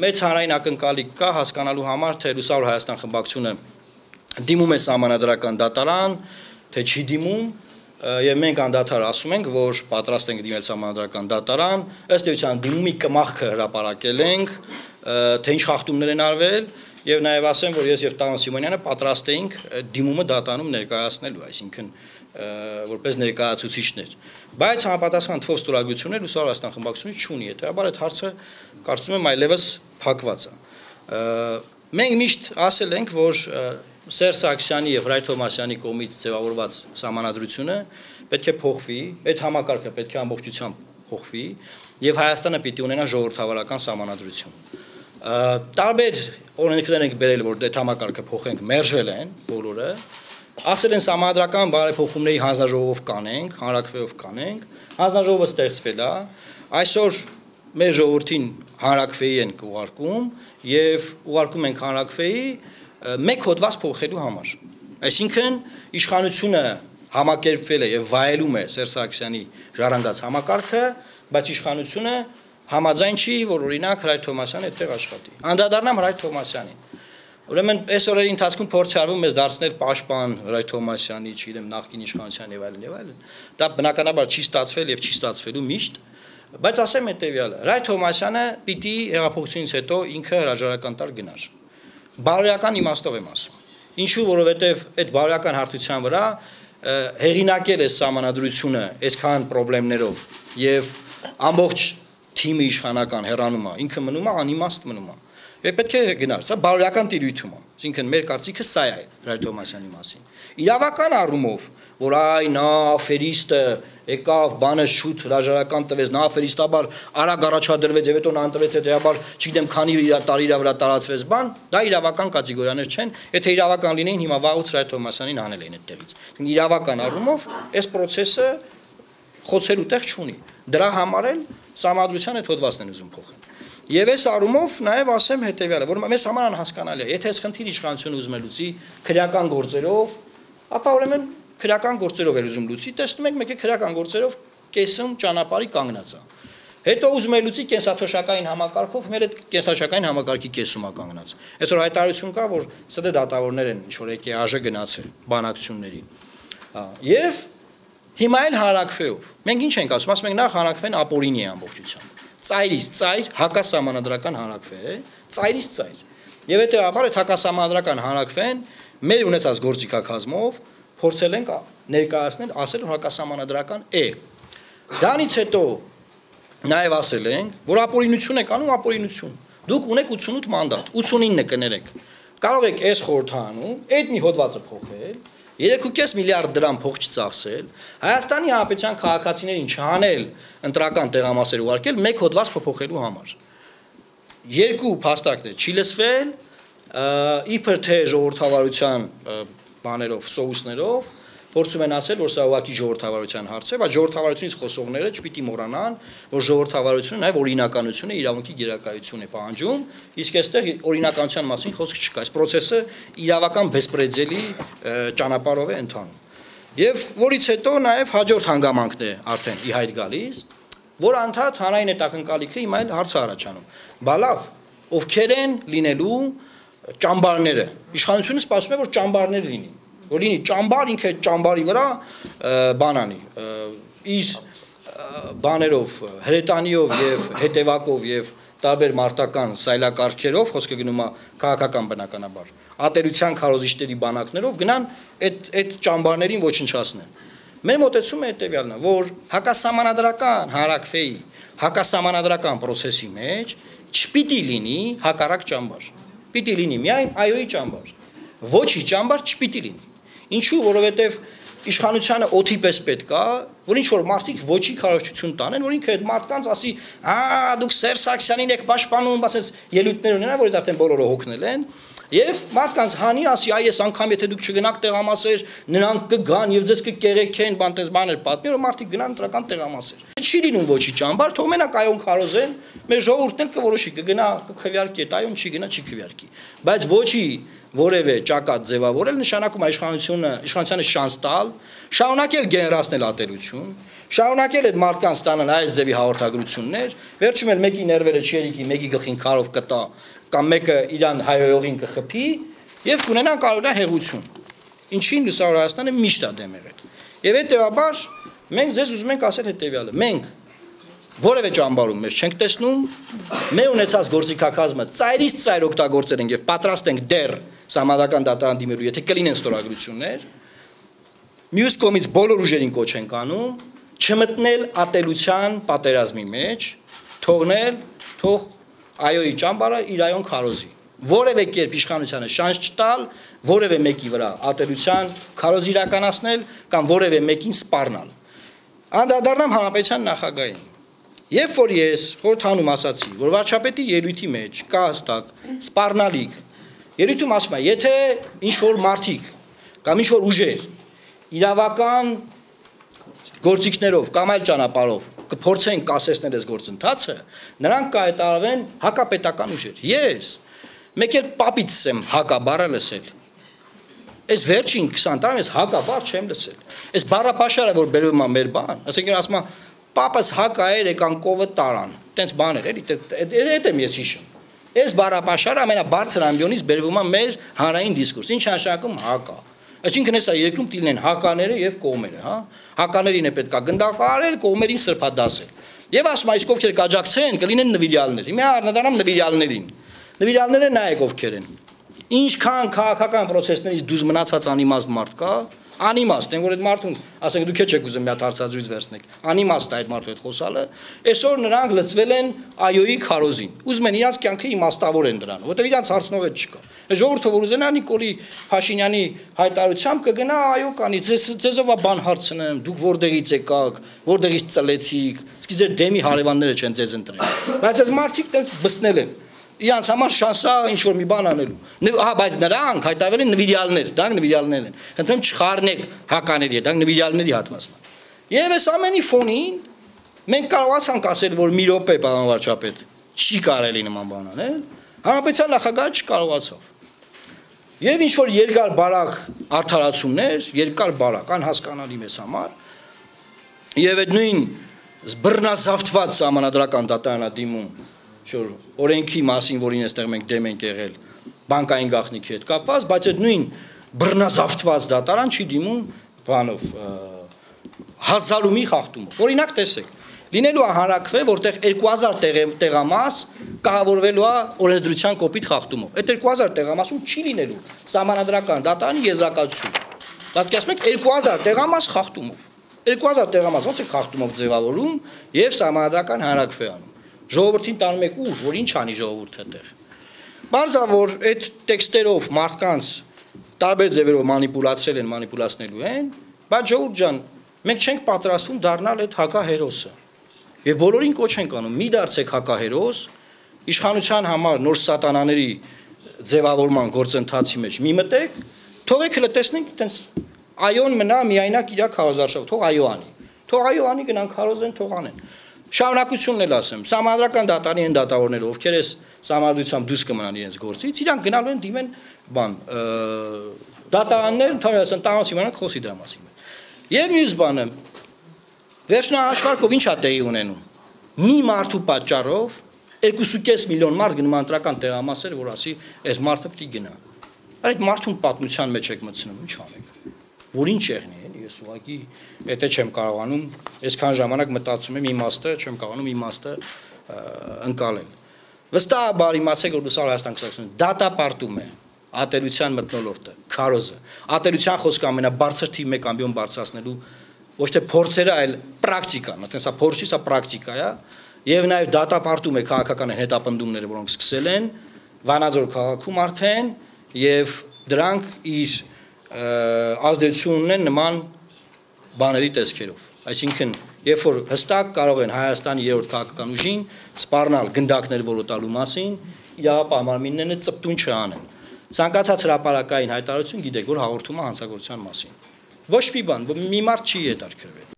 Մեծ հանրային ակնկալիք կա հասկանալու համար, թե Լուսավոր Հայաստան խմբակցությունը դիմում է սահմանադրական դատարան, թե չի դիմում, եւ մենք անդադար ասում ենք, որ պատրաստ ենք դիմել սահմանադրական դատարան, ըստ էության դիմումի կմախքը հրապարակել ենք, թե ինչ խախտումներ են արվել, եւ նաեւ ասեմ, որ ես եւ Տարոն Սիմոնյանը պատրաստ էինք դիմումը դատարանում ներկայացնելու, այսինքն որպես ներկայացուցիչներ, բայց համապատասխան թվով ստորագրություններ Լուսավոր Հայաստան խմբակցությունը չունի, հետեւաբար այդ հարցը կարծում եմ այլևս փակված է։ Մենք միշտ ասել ենք, որ Սերժ Սարգսյանի եւ Հրայր Թովմասյանի կողմից ձևավորված սահմանադրությունը պետք է փոխվի, այդ համակարգը պետք է ամբողջությամբ փոխվի եւ Հայաստանը պիտի ունենա ժողովրդավարական սահմանադրություն։ Տարբեր օրենքներ ենք բերել, որ այդ համակարգը փոխենք, մերժել են բոլորը, ասել են սահմանադրական բարեփոխումների հանձնաժողով կանենք, հանրաքվեով կանենք, հանձնաժողովը ստեղծվել է, այսօր մեր ժողովրդին հանրաքվեի են ուղարկում եւ ուղարկում ենք հանրաքվեի մեկ հոդված փոխելու համար։ Այսինքն իշխանությունը համակերպվել է եւ վայելում է Սերժ Սարգսյանի ժառանգած համակարգը, բայց իշխանությունը համաձայն չի, որ օրինակ Հրայր Թովմասյանը այդտեղ աշխատի։ Անդրադառնամ Հրայր Թովմասյանին։ Ուրեմն այս օրերի ընթացքում փորձ արվում մեզ դարձնել պաշտպան Հրայր Թովմասյանի, չգիտեմ, նախկին իշխանության եւ այլն։ Դա բնականաբար չի ստացվել եւ չի ստացվելու միշտ, բայց ասեմ հետեւյալը. Հրայր Թովմասյանը պիտի հեղափոխությունից հետո ինքը հրաժարական տար գնար։ Բարոյական իմաստով եմ ասում։ Ինչու, որովհետեւ այդ բարոյական հարթության վրա հեղինակել է սահմանադրությունը այսքան խնդիրներով եւ ամբողջ թիմի իշխանական հեռանում է, ինքը մնում է անիմաստ մնում է։ Եվ պետք է գնար, սա բարոյական տիրույթում է։ Այսինքն մեր կարծիքը սա է Հրայր Թովմասյանի մասին։ Իրավական առումով, որ այ նա աֆերիստը եկավ, բանը շուտ հրաժարական տվեց, նա աֆերիստաբար արագ առաջադրվեց եւ հետո նա ընտրվեց, հետեւաբար, չգիտեմ, քանի տարի իր վրա տարածվեց բան, դա իրավական կատեգորիաներ չեն, եթե իրավական լինեին, հիմա վաղուց Հրայր Թովմասյանին հանել էին այդտեղից։ Իրավական առումով այս process-ը խոցելու տեղ չունի։ Դրա համար էլ սահմանադրության այդ հոդվածն են ուզում փոխել։ Եվ այս առումով նաև ասեմ հետեւյալը, որ մեզ համար անհասկանալի է, եթե այս խնդիրը իշխանությունը ուզում է լուծի քրեական գործերով, ապա ուրեմն քրեական գործերով է ուզում լուծի, տեսնում եք մեկը քրեական գործերով կեսում ճանապարհի կանգնած է։ Հետո ուզում է լուծի կենսաթոշակային համակարգով, մեր այդ կենսաթոշակային համակարգի կեսում է կանգնած։ Այսօր հայտարարություն կա, որ ՍԴ դատավորներ են ինչ որ եկե ԱԺ գնացել բանակցությունների։ Եվ հիմա էլ հանրաքվեով։ Մենք ինչ ենք ասում ենք նախ հանրաքվեն ապօրինի է ամբողջությամբ։ Ծայրից ծայր հակասահմանադրական հանրաքվե է, ծայրից ծայր։ Եվ հետեւաբար այդ հակասահմանադրական հանրաքվեն մեր ունեցած գործիքակազմով փորձել ենք ներկայացնել, ասել որ հակասահմանադրական է։ Դրանից հետո նաև ասել ենք, որ ապօրինություն եք անում ապօրինություն։ Դուք ունեք 88 մանդատ, 89-ը կներեք։ Կարող եք այս խորհրդանում այդ մի հոդվածը փոխել, 3.5 միլիարդ դրամ փող չծախսել, Հայաստանի Հանրապետության քաղաքացիներին չանել ընտրական տեղամասեր ուղարկել մեկ հոդված փոփոխելու համար։ Երկու փաստարկներ չի լսվել, իբր թե ժողովրդավարության բաներով, սոուսներով, փորձում են ասել, որ սա ուղղակի ժողովրդավարության հարց է, բայց ժողովրդավարությունից խոսողները չպիտի մոռանան, որ ժողովրդավարությունը նաև օրինականություն է, իրավունքի գերակայություն է պահանջում, իսկ այստեղ օրինականության մասին խոսք չկա։ Այս process-ը իրավական բեսպրեդելի ճանապարհով է ընթանում։ Եվ որից հետո նաև հաջորդ հանգամանքն է արդեն ի հայտ գալիս, որ անդադ հանրային այդ ակնկալիքը հիմա էլ հարց արաչանում։ Բա լավ, ովքեր են լինելու ճամբարները։ Իշխանությունը սպասում է, որ ճամբարներ լինի, որ լինի ճամբար, ինքը այդ ճամբարի վրա բանանի, իր բաներով, հրետանիով եւ հետևակով եւ տարբեր մարտական սայլակարգերով, խոսքը գնում է քաղաքական բնականաբար, ատելության քարոզիչների բանակներով գնան այդ ճամբարներին ոչնչացնեն։ Մեր մոտեցումը հետեւյալն է, որ հակասահմանադրական հանրաքվեի, հակասահմանադրական process-ի մեջ չպիտի լինի հակառակ ճամբար։ Պիտի լինի միայն այոյի ճամբար։ Ոչի ճամբար չպիտի լինի։ Ինչու, որովհետև իշխանությանը օթի պես պետք է, որ ինչ որ մարդիկ ոչի քարոզչություն տանեն, որ ինքը այդ մարդկանց ասի, դուք Սերժ Սարգսյանին եք պաշտպանում, ասես ելույթներ ունենա, որ արդեն բոլորը հոգնել են, եւ մարդկանց հանի ասի, այս անգամ եթե դուք չգնաք տեղամասեր, նրանք կգան եւ ձեզ կկեղեքեն, բանտես բաներ պատմի, որ մարդիկ գնան ընտրական տեղամասեր։ Չի լինում ոչի ճամբար, թող մենակ այոն քարոզեն, մեր ժողովուրդն էլ կորոշի, կգնա, կքվյարկի, այոն չի գնա, չի քվյարկի։ Բայց ոչի որևէ ճակատ ձևավորել, նշանակում է իշխանությանը շանս տալ, շարունակել գեներացնել ատելություն, շարունակել այդ մարդկանց ստանալ այս ձևի հաղորդագրություններ, վերջում էլ մեկի ներվերը չերիկի, մեկի գլխին քարով կտա, կամ մեկը իրան հայոյողին կխփի եւ կունենան կարողա հեղություն։ Ինչին Լուսավոր Հայաստանը միշտ է դեմ եղել։ Եվ հետեւաբար մենք ձեզ ուզում ենք ասել հետեւյալը. մենք որևէ ճամբարում մեզ չենք տեսնում, մեր ունեցած գործիքակազմը ծայրից ծայր օգտագործել ենք եւ պատրաստ ենք դեռ համադական դատարան դիմելու, եթե կլինեն ստորագրություններ, մյուս կողմից բոլոր ուժերին կոչ ենք անում, չմտնել ատելության պատերազմի մեջ, թող այոյի ճամբարը իր այոն քարոզի։ Որևէ կերպ իշխանությանը շանս չտալ, որևէ մեկի վրա ատելության քարոզ իրականացնել կամ որևէ մեկին սպառնալ։ Անդրադառնամ հանրապետության նախագահին։ Երբ որ ես խորհրդանում ասացի, որ վարչապետի ելույթի մեջ կա հստակ սպառնալիք, ելույթում ասում է, եթե ինչ-որ մարդիկ կամ ինչ-որ ուժեր իրավական գործիքներով կամ այլ ճանապարհով կփորձեն կասեցնել այս գործընթացը, նրանք կհայտարարվեն հակապետական ուժեր։ Ես մեկ էլ պապից եմ հակաբառը լսել։ Այս վերջին 20 տարում ես հակաբառ չեմ լսել։ Այս բառապաշարը, որ բերվում է մեր բան, ասենք ասում է պապս հակա էր եկան կովը տարան, տենց բաներ էլի, այդ եմ ես հիշում։ Այս բառապաշարը ամենաբարձր ամբիոնից բերվում է մեր հանրային դիսկուրս, ինչ նշանակում հակա։ Այսինքն հեսա երկրում տիլնեն հակաները եւ կողմերը, հա։ Հականերին է պետքա գնդակարել, կողմերին սրբադասել։ Եվ ասում է, իսկ ովքեր կաջակցեն, կլինեն նվիրյալներ։ Հիմա առնվազն նվիրյալներին։ Նվիրյալները նայեք ովքեր են։ Ինչքան քաղաքական process-ներից դուրս մնացած անիմաստ մարդ կա, անիմաստ, այն որ այդ մարդուն, ասենք դուք եք ուզում մի հատ հարցազրույց վերցնեք, անիմաստ է այդ մարդու հետ խոսալը, այսօր նրանք լծվել են այոյի քարոզին։ Ուզում են իրանց կյանքը իմաստավոր են դրան, որտեղ իրանց հարցնող էլ չկա։ Ժողովուրդը որ ուզենա Նիկոլի Փաշինյանի հայտարարությամբ կգնա այո կանի, ձեզով բան հարցնեմ, դուք որտեղից եկաք, որտեղից ծլեցիք, իսկ ձեր դեմի հարևանները չեն ձեզ ընտրել։ Բայց այս մարդիկ տենց բսնել են։ Իրանց համար շանսա ինչ-որ մի բան անելու։ Հա, բայց նրանք հայտարարվել են նվիրյալներ, դրանք նվիրյալներն են։ Խնդրեմ չխառնեք հակաների հետ, դրանք նվիրյալների հատվածն է։ Եվ այս ամենի ֆոնին մենք կարողացանք ասել, որ մի րոպե, պարոն վարչապետ, չի կարելի նման բան անել, հանրապետության նախագահը չկարողացավ։ Եվ ինչ-որ երկար բարակ արդարացումներ, երկար բարակ, անհասկանալի մեզ համար, եւ այդ նույն բռնազավթված համանդրական դատարանադիմում շոր օրենքի մասին, որին այստեղ մենք դեմ ենք եղել, բանկային գաղտնիքի հետ կապված, բայց այդ նույն բռնազավթված դատարան չի դիմում բանով հազարումի խախտումով։ Օրինակ տեսեք, լինելու է հանրաքվե, որտեղ 2000 տեղամաս կահավորվելու է օրենսդրության կոպիտ խախտումով։ Այդ 2000 տեղամասում չի լինելու համանդրական դատարանի եզրակացություն։ Պատկերացնեք 2000 տեղամաս խախտումով։ 2000 տեղամաս ոնց է խախտումով ձևավորում եւ համանդրական հանրաքվե անում։ Ժողովրդին տանում եք ուժ, որ ինչ անի ժողովուրդը այդտեղ։ Բարձա որ այդ տեքստերով մարդկանց տարբեր ձևերով մանիպուլացել են, մանիպուլացնելու են, բայց ժողովուրդ ջան, մենք չենք պատրաստվում դառնալ այդ հակահերոսը։ Եվ բոլորին կոչ ենք անում՝ մի դարձեք հակահերոս, իշխանության համար նոր սատանաների ձևավորման գործընթացի մեջ մի մտեք, թողեք հələ տեսնենք, այտենց այոն մնա միայնակ իր քարոզարշավ, թող այո անի։ Թող այո անի, գնանք քարոզեն, թող անեն։ Շարունակությունն էլ ասեմ, համանդրական դատարանի են դատավորները, ովքեր էս համանդրությամբ դուրս կմնան իրենց գործից, իրանք գնալու են դիմեն բան, դատարաններ, ընդհանրապես տանոց իմանանք խոսի դրա մասին։ Եվ մյուս բանը, վերջնահաշվարկով ինչ է տեղի ունենում։ Մի մարդու պատճառով 2.5 միլիոն մարդ գնում ընտրական տեղամասեր, որ ասի, այս մարդը պիտի գնա։ Այդ մարդուն պատմության մեջ եք մտցնում, ինչ անենք։ Որ ինչ եղնի, ես ուղղակի եթե չեմ կարողանում, այսքան ժամանակ մտածում եմ իմաստը, չեմ կարողանում իմաստը ընկալել։ Վստահաբար իմացեք, որ Լուսավոր Հայաստան 2020 դատապարտում է ատելության մթնոլորտը, քարոզը։ Ատելության խոսքը ամենաբարձր թիվ 1 ամբիոն բարձրացնելու ոչ թե փորձերը, այլ պրակտիկան, այդպես սա փորձ չի, սա պրակտիկա է, եւ նաեւ դատապարտում է քաղաքական հետապնդումները, որոնք սկսել են Վանաձոր քաղաքում արդեն, եւ դրանք իր ազդեցություն ունեն նման բաների տեսքերով։ Այսինքն, երբ որ հստակ կարող են Հայաստանի երրորդ քաղաքական ուժին սպառնալ գնդակներ որոտալու մասին, իրավապահ մարմինները ծպտուն չանեն։ Ցանկացած հրապարակային հայտարարություն գիտեք, որ հաղորդում է հանցագործության մասին։ Ոչ մի բան, մի մարդ չի հետաքրքրվել։